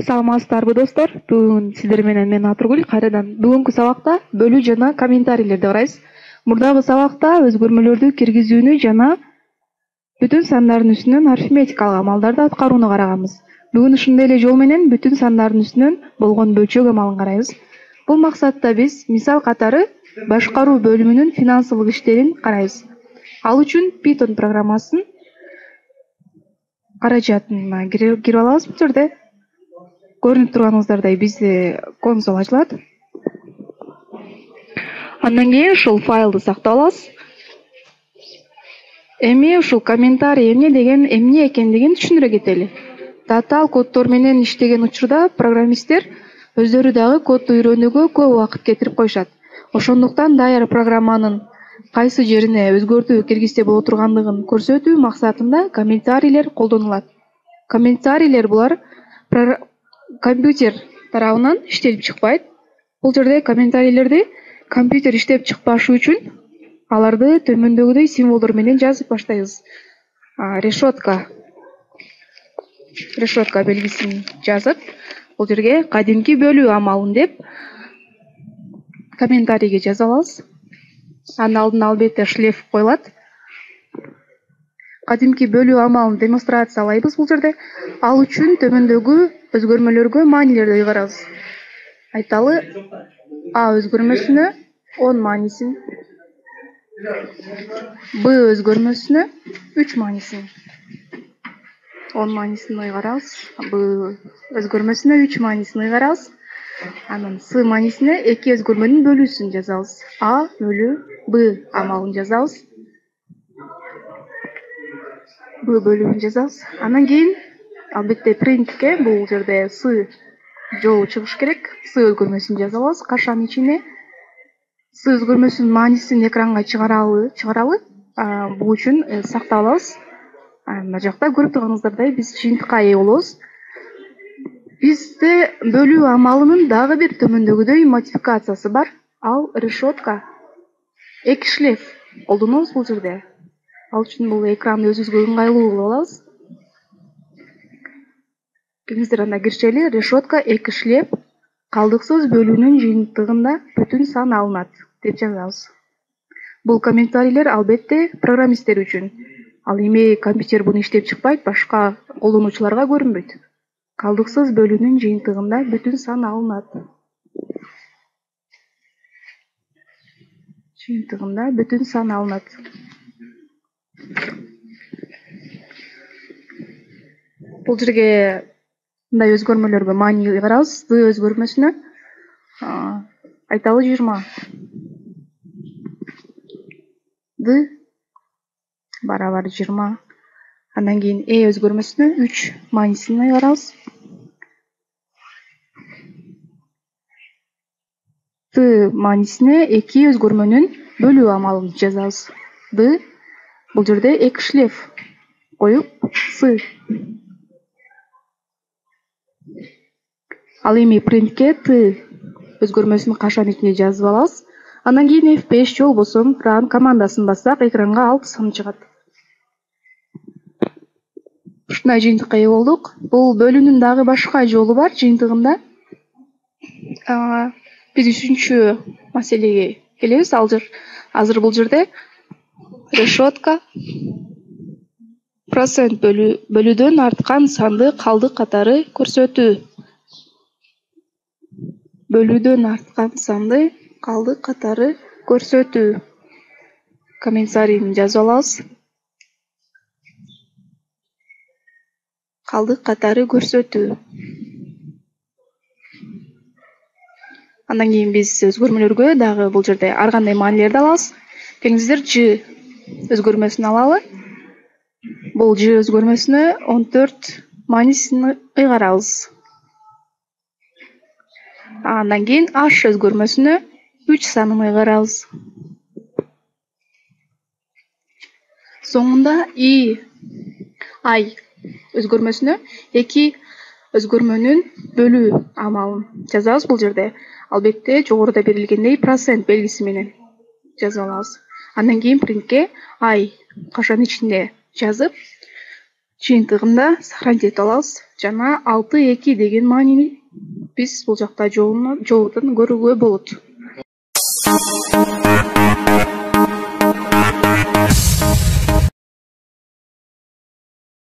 Саламатсыздарбы достор? Бүгүн сиздер менен мен Атургүл кайрадан бүгүнкү сабакта бөлүү жана комментарийлерди карайбыз. Мурдагы сабакта өзгөрмөлөрдү киргизүүнү жана бүтүн сандардын үстүнөн арифметикалык амалдарды аткарууну караганбыз. Бүгүн ушундай эле жол менен бүтүн сандардын үстүнөн болгон бөлчөк амалын карайбыз. Бул максатта биз мисал катары башкаруу бөлүмүнүн финансылык иштерин карайбыз. Ал үчүн Python программасынын каражатына кирип алабыз. Бул жерде көрүнүп турганыңыздардай бизде консоль ачылат. Андан кийин ушул файлды сактап алабыз. Эми ушул комментарий эмне экендигин түшүндүрө кетели. Татаал коддор менен иштеген учурда программисттер өздөрү дагы кодду үйрөнүүгө көп убакыт кетирип коюшат. Ошондуктан даяр программанын кайсы жерине өзгөртүү киргизсе боло тургандыгын көрсөтүү максатында комментарийлер колдонулат. Комментарийлер булар компьютер тарабынан иштелип чыкпайт. Бул жерде комментарийлерди компьютер иштеп чыкпашы үчүн аларды төмөндөгүдөй символдор менен жазып баштайбыз. Решетка белгисин жазып, бул жерге кадимки бөлүү амалын деп комментарийге жазып алабыз. Анын алдына албетте шлеф коюлат. Кадимки бөлүү амалын демонстрациялайбыз бул жерде. Ал үчүн төмөндөгү өзгөрмөлөргө маанилерди ыйгарабыз. Айталы А өзгөрмөсүнө 10 маанисин, Б өзгөрмөсүнө 3 маанисин, 10 маанисин ыйгарабыз. Б өзгөрмөсүнө 3 маанисин ыйгарабыз. Анан С маанисине 2 өзгөрмөнүн бөлүүсүн жазабыз. А бөлүү Б амалын жазабыз. Б бөлүүн жазабыз. Андан кийин албетте принтке бул жерде С жолу чыгыш керек. С өзгөрмөсүн жазып алабыз. Кашанын ичине С өзгөрмөсүнүн маанисин экранга чыгаралы. Бул үчүн сактап алабыз. Мына жакта көрүп турганыңыздардай биз жыйынтыкка ээ болобуз. Бизде бөлүү амалынын дагы бир төмөндөгүдөй модификациясы бар. Ал решетка. Эки шлеф колдонобуз бул жерде. Ал үчүн бул экранды өзүбүзгө ыңгайлуу кылып алабыз. Келиңиздер анда киришели. Решетка эки шлеф калдыксыз бөлүүнүн жыйынтыгында бүтүн сан алынат деп жазабыз. Бул комментарийлер албетте программисттер үчүн. Ал эми компьютер буну иштеп чыкпайт, башка колдонуучуларга көрүнбөйт. Калдыксыз бөлүүнүн жыйынтыгында бүтүн сан алынат. Бул жерге мындай өзгөрмөлөргө маани ыйгарабыз. Д өзгөрмөсүнө айталы 20. Д барабар 20. Андан кийин өзгөрмөсүнө 3 маанисин ыйгарабыз. Т маанисине 2 өзгөрмөнүн бөлүү амалын жазабыз. Д бул жерде 2 шлеф коюп С. Ал эми принтке Т өзгөрмөсүн кашанын ичине жазып алабыз. Андан кийин F5 же болбосо run командасын бассак экранга 6 сан чыгат. Ушундай жыйынтыкка ээ болдук. Бул бөлүүнүн дагы башка жолу бар жыйынтыгында. Биз 3-чү маселеге келебиз. Азыр бул жерде решетка процент бөлүүдөн арткан санды калдык катары көрсөтүү. Бөлүүдөн арткан санды калдык катары көрсөтүү. Комментарийин жазып алабыз. Калдык катары көрсөтүү. Андан кийин биз өзгөрмөлөргө дагы бул жерде ар кандай маанилерди алабыз. Келиңиздер Ж өзгөрмөсүн алалы. Бул Ж өзгөрмөсүнө 14 маанисин ыйгарабыз. Андан кийин h өзгөрмөсүнө 3 санын ыйгарабыз. Соңунда ай өзгөрмөсүнө 2 өзгөрмөнүн бөлүү амалын жазабыз бул жерде. Албетте жогоруда берилгендей процент белгиси менен жазып алабыз. Андан кийин принтке ай кашанын ичинде жазып, жыйынтыгында сохранить этип алабыз жана 6,2 деген маанини биз бул жакта жообунан көрүүгө болот.